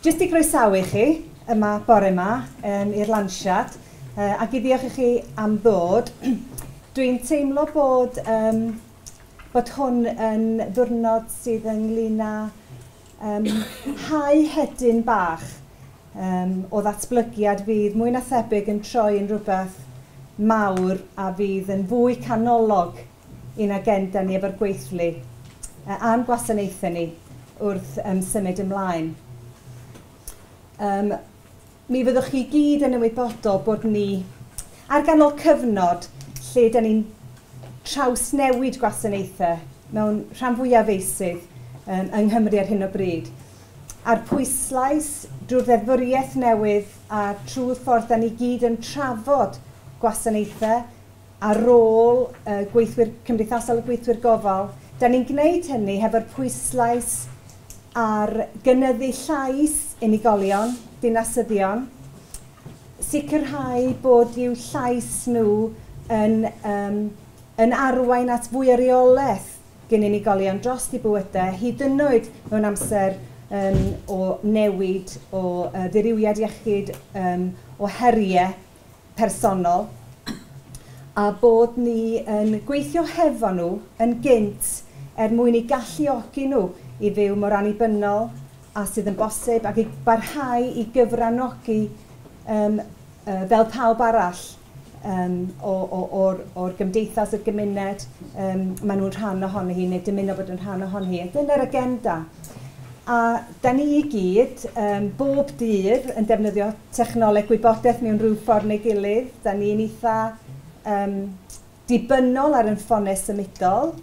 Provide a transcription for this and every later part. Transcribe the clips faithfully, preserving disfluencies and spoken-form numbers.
Jyst i groesawu chi yma bore yma um, i'r lansiad uh, ac i ddiolch i chi am ddod. Dwi'n teimlo bod, um, bod hwn yn ddwrnod sydd ynglyn â um, hau hedyn bach um, o ddatblygiad fydd mwy na thebyg yn troi yn rhywbeth mawr a fydd yn fwy canolog i'n agenda ni efo'r gweithlu uh, a'n gwasanaethau ni wrth um, symud ymlaen. Um, mi fyddwch chi gyd yn ymwybodol bod ni ar ganol cyfnod lle da ni'n trawsnewid gwasanaethau mewn rhan fwyaf feysydd um, yng Nghymru ar hyn o bryd. A'r pwyslais drwy'r ddeddfwriaeth newydd a trwy'r ffordd da ni gyd yn trafod gwasanaethau ar ôl uh, gweithwyr cymdeithasol a gweithwyr gofal, da ni'n gwneud hynny hefo'r pwyslais ar gynyddu llais unigolion, dinasyddion, sicrhau bod i'w llais nhw yn, um, yn arwain at fwy o reolaeth gen unigolion dros eu bywydau, hyd yn oed mewn amser um, o newid, o uh, ddirywiad iechyd, um, o heriau personol, a bod ni yn gweithio hefo nhw yn gynt er mwyn i galluogi nhw i fyw mor annibynnol a sydd yn bosib ac i barhau i gyfranogi um, uh, fel pawb arall um, o, o, o'r, o'r gymdeithas, y gymuned, um, maen nhw'n rhan ohoni hi neu dymuno bod yn rhan ohoni hi. Dyna'r agenda. A da ni i gyd, um, bob dydd, yn defnyddio technoleg gwybodaeth mewn rhyw ffordd neu gilydd. Da ni'n eitha um, dibynnol ar ein ffonau symudol.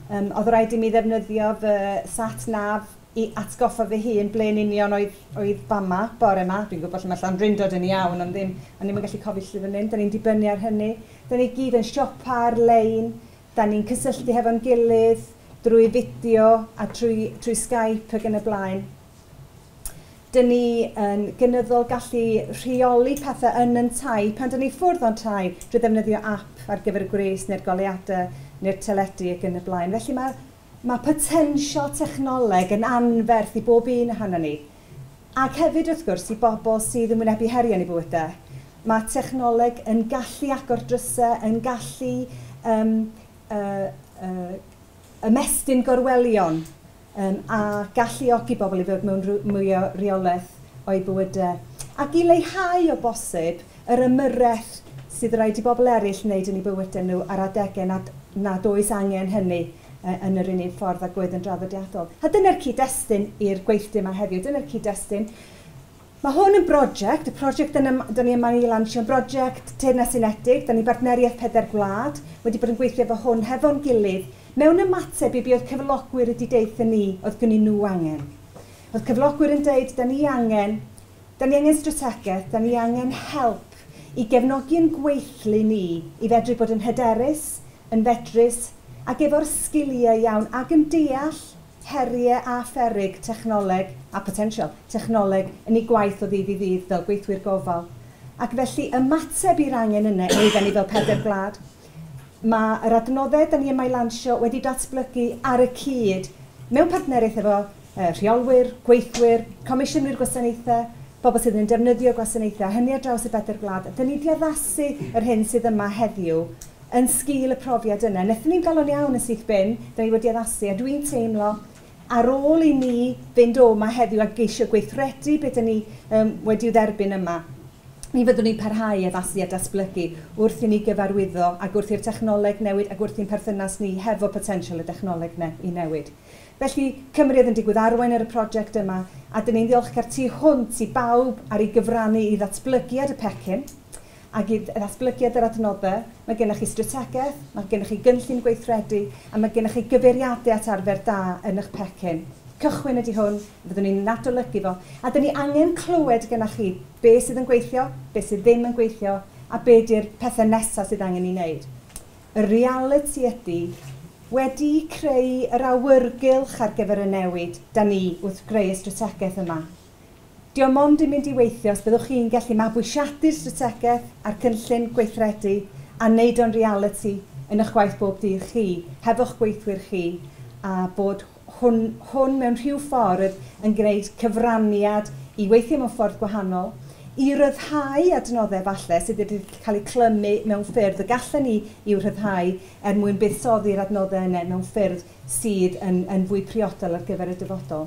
Um, oedd rhaid i mi ddefnyddio fy sat nav i atgoffa fy hun ble'n union oedd, oedd fama bore yma. Dwi'n gwybod lle mae Llandrindod yn iawn, ond ddim, ond ddim yn gallu cofio lle fan hyn. Da ni'n dibynnu ar hynny. Da ni gyd yn siopa ar-lein, da ni'n cysylltu hefo'n gilydd drwy fideo a trwy, trwy Skype ac yn y blaen. Da ni yn gynyddol gallu rheoli pethau yn yn tai pan da ni ffwrdd o'n tai drwy ddefnyddio app ar gyfer y gwres neu'r goleuadau neu'r teledu ac yn y blaen. Felly mae, mae potensial technoleg yn anferth i bob un ohono ni. Ac hefyd, wrth gwrs, i bobl sydd yn wynebu heriau yn eu bywydau. Mae technoleg yn gallu agor drysau, yn gallu um, uh, uh, ymestyn gorwelion um, a galluogi bobl i fod mewn mwy o reolaeth o'i bywydau. Ac i leihau o bosib yr ymyrraeth sydd rhaid i bobl eraill wneud yn eu bywydau nhw ar adegau nad, nad oes angen hynny uh, yn yr unig ffordd ag oedd yn draddodiadol. A dyna'r cyd-destun i'r gweithdy yma heddiw, dyna'r cyd-destun. Mae hwn yn brosiect, y prosiect da ni yma i lansio, yn brosiect Teyrnas Unedig, da ni bartneriaeth pedair gwlad, wedi bod yn gweithio efo hwn hefo'n gilydd, mewn ymateb i be oedd cyflogwyr wedi deutha ni, oedd gynnyn nhw angen. Oedd cyflogwyr yn deud, da ni angen, da ni angen strategaeth, da ni angen help i gefnogi'n gweithlu ni, i fedru bod yn hyderus, yn fedrus, ac efo'r sgiliau iawn, ac yn deall heriau a pheryg technoleg, a potensial technoleg, yn ei gwaith o ddydd i ddydd fel gweithwyr gofal. Ac felly ymateb i'r angen yna, oedden ni fel pedair gwlad. Mae yr adnoddau da ni yma i lansio wedi datblygu ar y cyd mewn partneriaeth efo uh, rheolwyr, gweithwyr, comisiynwyr gwasanaethau, bobl sydd yn defnyddio gwasanaethau, hynny ar draws y bedair gwlad. Da ni wedi addasu yr hyn sydd yma heddiw yn sgil y profiad yna. Nethon ni'n galon iawn yn syth bin, da ni wedi addasu, a dwi'n teimlo ar ôl i ni fynd o yma heddiw a geisio gweithredu beth da ni um, wedi'w dderbyn yma, mi fyddwn ni'n parhau i addasu a datblygu wrth i ni gyfarwyddo ac wrth i'r technoleg newid ac wrth i'n perthynas ni hefo potensial y technoleg ne i newid. Felly, Cymru oedd yn digwydd arwain ar y prosiect yma, a dyn ni'n ddiolchgar tu hwnt i bawb ar ei gyfrannu i ddatblygiad y pecyn ac i ddatblygiad yr adnoddau. Mae gennych chi strategaeth, mae gennych chi gynllun gweithredu, a mae gennych chi gyfeiriadau at arfer da yn eich pecyn. Cychwyn ydy hwn, fyddwn ni'n adolygu fo, a dyn ni angen clywed gennych chi be sydd yn gweithio, be sydd ddim yn gweithio, a be di'r pethau nesaf sydd angen ei wneud. Y realiti ydy, wedi creu yr awyrgylch ar gyfer y newid, da ni wrth greu y strategaeth yma. Dio mond yn mynd i weithio os byddwch chi'n gallu mabwysiadu'r strategaeth a'r cynllun gweithredu a wneud o'n realiti yn eich gwaith bob dydd chi, hefo'ch gweithwyr chi, a bod hwn, hwn mewn rhyw ffordd yn gwneud cyfraniad i weithio mewn ffordd gwahanol, i ryddhau adnoddau falle sydd wedi cael eu clymu mewn ffyrdd y gallen ni i'w rhyddhau er mwyn buddsoddi'r adnoddau yna mewn ffyrdd sydd yn, yn fwy priodol ar gyfer y dyfodol.